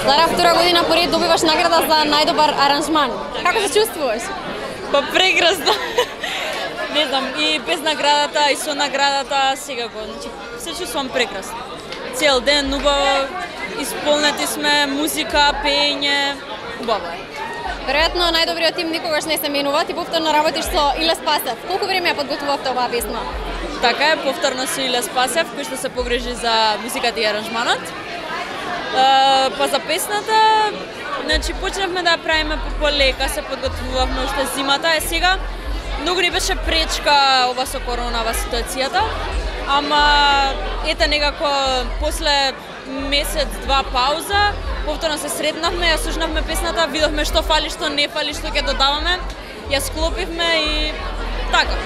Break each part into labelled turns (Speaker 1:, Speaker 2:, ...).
Speaker 1: Лара, втора година поред добиваш награда за најдобар аранжман. Како се чувствуваш?
Speaker 2: Па прекрасно. Не знам, и без наградата, и со наградата, секако. Значи, се чувствувам прекрасно. Цел ден убаво, исполнети сме, музика, пење, убаво е.
Speaker 1: Веројатно најдобриот тим никогаш не се менува, ти повторно работиш со Иле Спасев. Колку време ја подготвувавте оваа песна?
Speaker 2: Така е, повторно со Иле Спасев, кој што се погрежи за музиката и аранжманот. Па за песната, значи почнавме да ја правиме полека, се подготвувавме уште зимата, е сега многу ни беше пречка ова со коронава ситуацијата, ама ете некако после месец-два пауза, повторно се сретнавме, ја слушнавме песната, видовме што фали, што не фали, што ќе додаваме, ја склопивме и така.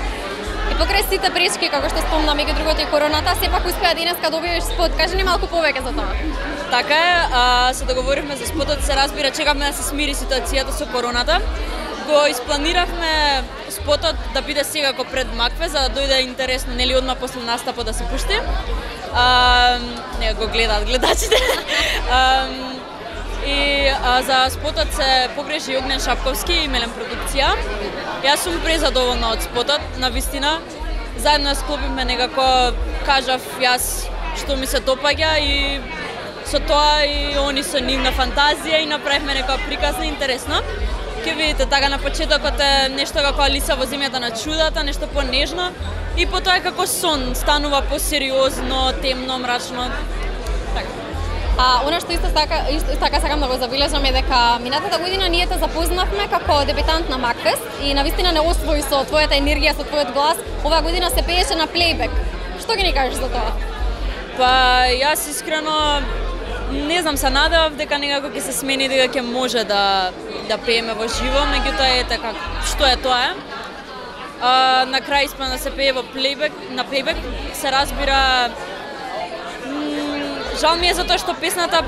Speaker 1: И покрај сите пречки, како што спомна, меѓу другото и короната, сепак успеа денеска да објавиш спот. Кажи ни малку повеќе за тоа.
Speaker 2: Така е, се договоривме за спотот, се разбира, чекавме да се смири ситуацијата со короната. Го испланиравме спотот да биде секако пред Макве, за да дојде интересно, нели одма после настапот да се пушти. Не го гледаат гледачите. И за спотот се погрежи Огнен Шапковски и Мелен продукција. Јас сум презадоволна од спотот, навистина. Заедно склопивме некако, кажав јас што ми се допаѓа и со тоа и они со нивна фантазија и направивме некоја приказна интересно. Ке видите, така на почетокот е нешто како Алиса во земјата на чудата, нешто понежно и потоа е како сон, станува посериозно, темно, мрачно. Така.
Speaker 1: Она што исто така сакам да го забележам е дека минатата година ние те запознавме како дебитант на Макфест и навистина не освои со твојата енергија, со твојот глас. Оваа година се пееше на плейбек. Што ги ни кажеш за тоа?
Speaker 2: Па јас искрено не знам, се надевав дека некако ќе се смени, дека ќе може да пееме во живо, меѓутоа ете како што е тоа е. На крај испадна да се пее во плейбек, на плейбек се разбира. Жал ми е затоа што песната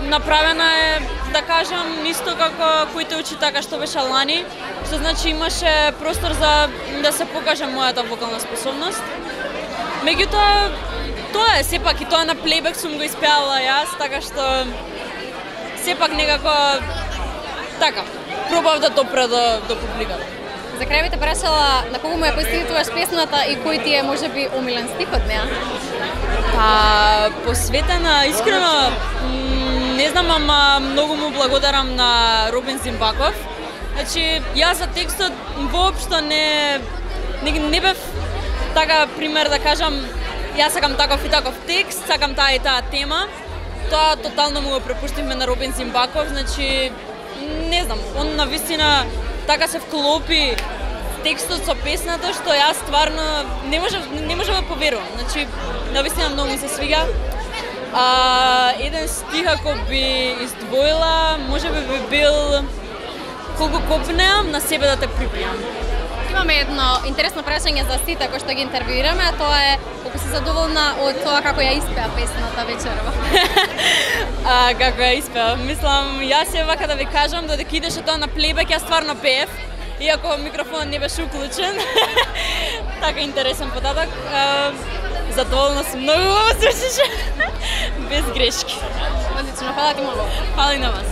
Speaker 2: направена е, да кажам, исто како коите очи така што беше лани, што значи имаше простор за да се покаже мојата вокална способност. Меѓутоа, тоа е, сепак и тоа на плейбек сум го испеала јас, така што сепак некако така, пробав да допре до публиката.
Speaker 1: За крај би те прашала на кого му ја посветуваш песната и кој ти е можеби омилен стих од неа?
Speaker 2: Па, посветена, искрено, не знам, ама многу му благодарам на Робин Зимбаков. Значи, јас за текстот воопшто не бев така пример да кажам, јас сакам таков и таков текст, сакам таа и таа тема. Тоа тотално му го препуштивме на Робин Зимбаков, значи, не знам, он навистина така се вклопи текстот со песната, што јас стварно не можам да поверувам. Значи, навистина многу ми се свига. Еден стих ако би издвоила, можеби би бил колку копнеам на себе да те припијам.
Speaker 1: Имаме едно интересно прашање за сите кои што ги интервјуираме, тоа е колку си задоволна од тоа како ја испеа песната вечерва.
Speaker 2: Како ја испеа, мислам, јас е вака да ви кажам, додека идеше тоа на плейбек, јас стварно пеев, иако микрофонот не беше уклучен. Така интересен податок. Задоволна сум, многу го звучеше, без грешки.
Speaker 1: Одлично, фала ти многу.
Speaker 2: Фала и на вас.